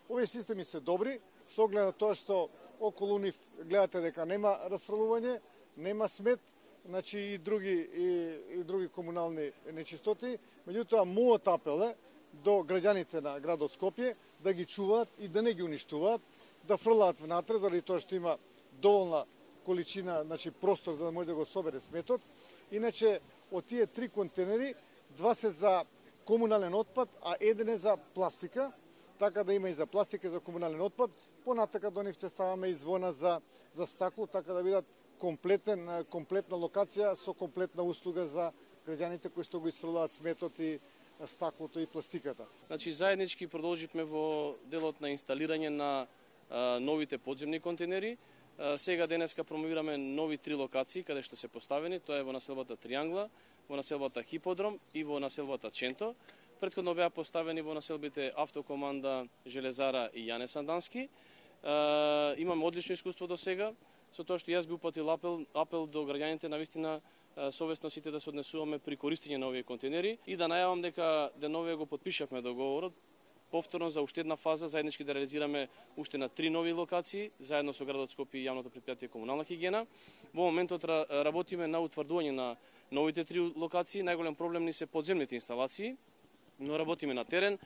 Овие системи се добри, со оглед на тоа што околу нив гледате дека нема расфрлување, нема смет, значи и други комунални нечистоти. Меѓутоа, мојот апел е до граѓаните на градот Скопје да ги чуваат и да не ги уништуваат, да фрлаат внатре, заради тоа што има доволна количина, значи простор за да може да го собере сметот. Иначе, од тие 3 контейнери, 2 се за комунален отпад, а 1 е за пластика, така да има и за пластика и за комунален отпад. Понатака до нив ќе ставаме и звона за стакло, така да бидат комплетна локација со комплетна услуга за граѓаните кои што го исфрлаат сметот и стаклото и пластиката. Значи заеднички продолживме во делот на инсталирање на новите подземни контейнери. Сега денеска промовираме нови 3 локации каде што се поставени, тоа е во населбата Триангла, во населбата Хиподром и во населбата Ченто. Претходно беа поставени во населбите Автокоманда, Железара и Јане Сандански. Имаме одлично искуство до сега, со тоа што јас би упатил апел до граѓаните на вистина совесно сите да се однесуваме при користење на овие контейнери и да најавам дека деновие го потпишавме договорот повторно за уште една фаза, заеднички да реализираме уште на 3 нови локации, заедно со градот Скопје и јавното претпријатие Комунална хигиена. Во моментот работиме на утврдување на новите 3 локации. Најголем проблем ни се подземните инсталации, но работиме на терен.